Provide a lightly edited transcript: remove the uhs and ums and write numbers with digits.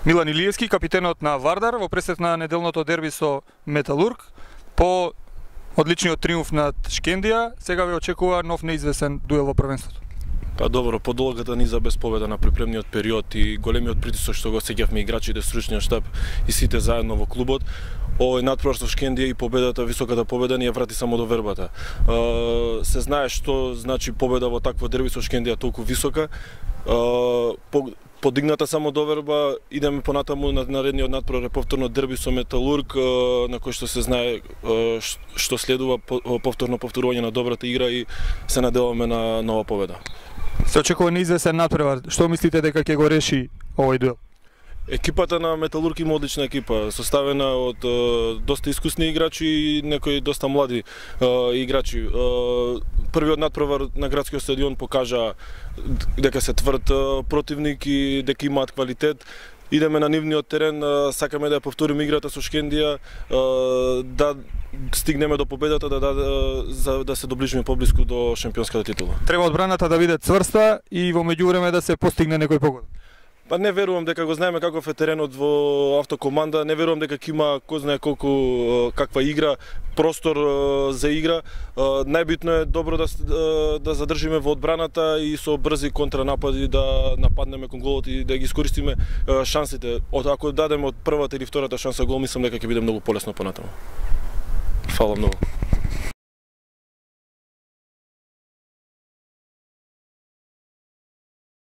Милан Илиевски, капитенот на Вардар, во пресет на неделното дерби со Металург, по одличниот триумф над Шкендија, сега ве очекува нов неизвесен дуел во првенството. Па добро, по долгата низа без победа на припремниот период и големиот притисок што го сеќавме играчите, стручниот штаб и сите заедно во клубот, овој надпревар со Шкендија и победата, високата победа ни ја врати само до вербата. Се знае што значи победа во такво дерби со Шкендија толку висока. Подигната само доверба, идеме понатаму на наредниот надпревар повторно дерби со Металург, на кој што се знае што следува повторно повторување на добрата игра и се надеваме на нова победа. Се очекува неизвесен надпревар. Што мислите дека ќе го реши овој дуел? Екипата на Металург има одлична екипа, составена од доста искусни играчи и некои доста млади играчи. Првиот надпревар на градскиот стадион покажа дека се тврд противник и дека имаат квалитет. Идеме на нивниот терен, сакаме да ја повториме играта со Шкендија, да стигнеме до победата, да се доближиме поблиску до шампионската титула. Треба одбраната да биде цврста и во меѓувреме да се постигне некој погода. Па не верувам дека го знаеме каков е теренот во Автокоманда, не верувам дека ќе има кој знае колку каква игра, простор за игра. Најбитно е добро да задржиме во одбраната и со брзи контранапади да нападнеме кон голот и да ги искористиме шансите. Ако дадеме од првата или втората шанса гол, мислам дека ќе биде многу полесно понатаму. Фала многу.